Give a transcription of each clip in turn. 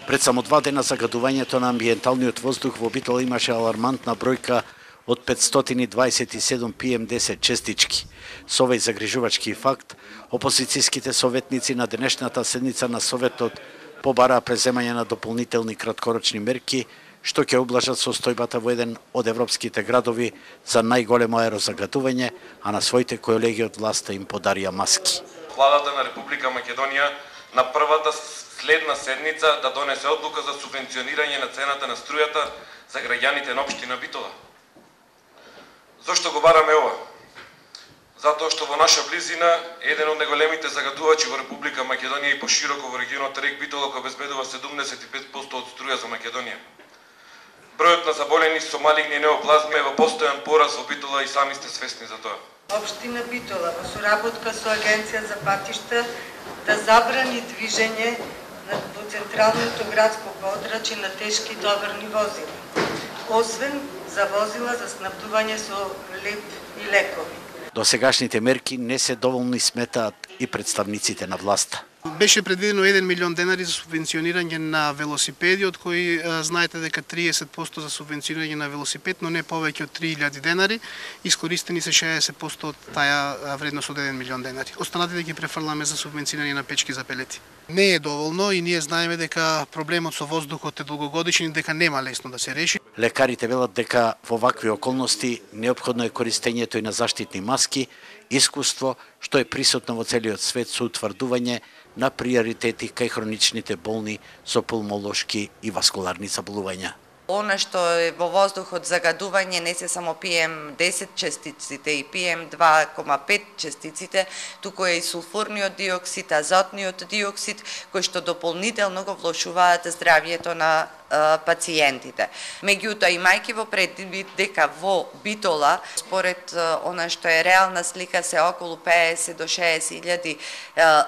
Пред само 2 дена загадувањето на амбиенталниот воздух во Битола имаше алармантна бројка од 527 PM10 честички. Со овој загрижувачки факт, опозицијските советници на денешната седница на Советот побараа преземање на дополнителни краткорочни мерки, што ќе облажат состојбата во еден од европските градови за најголемо аерозагадување, а на своите колеги од власта им подарија маски. Владата на Република Македонија на првата следна седница да донесе одлука за субвенционирање на цената на струјата за граѓаните на општина Битола. Зошто го бараме ова? Затоа што во наша близина еден од најголемите загадувачи во Република Македонија и пошироко во регионот Рек Битола кој обезбедува 75% од струја за Македонија. Бројот на заболени со малигни неоплазми е во постојан пораз во Битола и сами сте свесни за тоа. Општина Битола во соработка со Агенција за патишта да забрани движење во централното градско подрачје на тешки товарни возила, освен за возила за снабдување со леп и лекови. Досегашните мерки не се доволни, сметаат и представниците на власта. Беше предвидено 1 милион денари за субвенционирање на велосипеди, од кои знаете дека 30% за субвенционирање на велосипед, но не повеќе од 3000 денари. Искористени се 60% од таа вредност од 1 милион денари. Останатите ги префрламе за субвенционирање на печки за пелети. Не е доволно и ние знаеме дека проблемот со воздухот е долгогодишен и дека нема лесно да се реши. Лекарите велат дека во вакви околности неопходно е користењето и на заштитни маски, искуство што е присутно во целиот свет со утврдување на приоритети кај хроничните болни со пулмолошки и васкуларни заболувања. Она што е во воздухот загадување не се само PM10 честиците и PM2,5 честиците, туку е и сулфурниот диоксид, азотниот диоксид, кои што дополнително го влошуваат здравјето на пациентите. Меѓутоа, имајќи во предвид дека во Битола, според она што е реална слика, се околу 50 до 60.000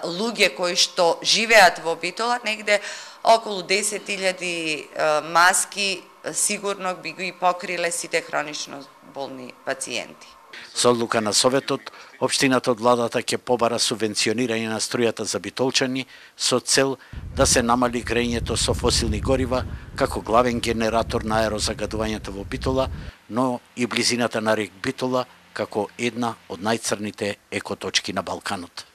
луѓе кои што живеат во Битола, негде околу 10.000 маски сигурно би ги покриле сите хронично болни пациенти. Со одлука на Советот, општината од владата ќе побара субвенционирање на струјата за битолчани со цел да се намали грејењето со фосилни горива како главен генератор на аерозагадувањето во Битола, но и близината на рек Битола како една од најцрните екоточки на Балканот.